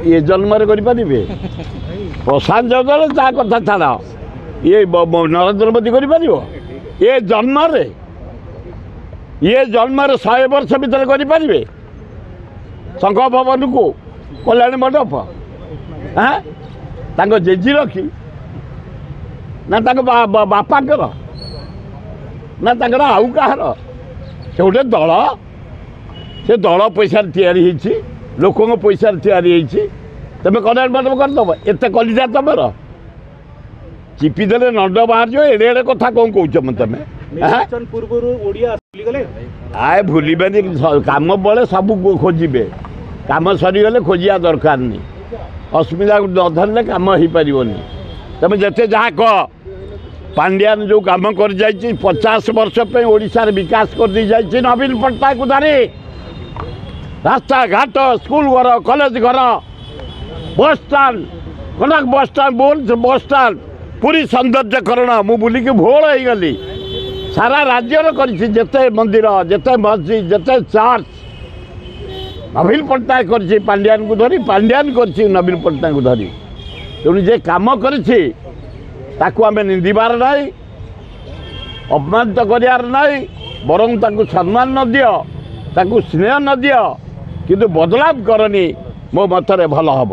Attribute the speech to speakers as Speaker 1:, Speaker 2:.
Speaker 1: ଏ ଜନ୍ମରେ କରିପାରିବେ ପ୍ରଶାନ୍ତ ଜଗଦଳ? ତା କଥା ଛାଡ଼, ଇଏ ନରେନ୍ଦ୍ର ମୋଦି କରିପାରିବ ଏ ଜନ୍ମରେ? ଇଏ ଜନ୍ମରେ 100 ବର୍ଷ ଭିତରେ କରିପାରିବେ ଶଙ୍ଖ ଭବନକୁ କଲ୍ୟାଣ ମଣ୍ଡପ? ହାଁ, ତାଙ୍କ ଜେଜି ରଖି ନା ତାଙ୍କ ବାପାଙ୍କର ନା ତାଙ୍କର ଆଉ କାହାର? ସେ ଗୋଟେ ଦଳ, ସେ ଦଳ ପଇସାରେ ତିଆରି ହେଇଛି, ଲୋକଙ୍କ ପଇସାରେ ତିଆରି ହେଇଛି। ତମେ କଲ୍ୟାଣ ମଣ୍ଡପ କରିଦେବ? ଏତେ କଲିଜା ତମର? ଚିପିଦେଲେ ନଣ୍ଡ ବାହାରିଯିବ। ଏଡ଼େ ଏଡ଼େ କଥା କ'ଣ କହୁଛ ତମେ? ଆଏ, ଭୁଲିବେନି। କାମ ବେଳେ ସବୁ ଖୋଜିବେ, କାମ ସରିଗଲେ ଖୋଜିବା ଦରକାର ନାହିଁ। ଅସୁବିଧାକୁ ନ ଧରିଲେ କାମ ହେଇପାରିବନି। ତମେ ଯେତେ ଯାହା କହ, ପାଣ୍ଡିଆନ ଯେଉଁ କାମ କରିଯାଇଛି, 50 ବର୍ଷ ପାଇଁ ଓଡ଼ିଶାରେ ବିକାଶ କରିଦେଇ ଯାଇଛି ନବୀନ ପଟ୍ଟନାୟକକୁ ଧରି। ରାସ୍ତାଘାଟ, ସ୍କୁଲ ଘର, କଲେଜ ଘର, bus stand, Cuttack bus stand, Bhubaneswar bus stand, Puri ସୌନ୍ଦର୍ଯ୍ୟକରଣ, ମୁଁ ବୁଲିକି ଭୋଳ ହେଇଗଲି। ସାରା ରାଜ୍ୟର କରିଛି, ଯେତେ ମନ୍ଦିର, ଯେତେ ମସଜିଦ୍, ଯେତେ ଚର୍ଚ୍ଚ ନବୀନ ପଟ୍ଟନାୟକ କରିଛି ପାଣ୍ଡିଆନକୁ ଧରି, ପାଣ୍ଡିଆନ କରିଛି ନବୀନ ପଟ୍ଟନାୟକକୁ ଧରି। ତେଣୁ ଯେ କାମ କରିଛି ତାକୁ ଆମେ ନିନ୍ଦିବାର ନାହିଁ, ଅପମାନିତ କରିବାର ନାହିଁ। ବରଂ ତାକୁ ସମ୍ମାନ ନ ଦିଅ, ତାକୁ ସ୍ନେହ ନ ଦିଅ, କିନ୍ତୁ ବଦନାମ କରନି। ମୋ ମତରେ ଭଲ ହେବ।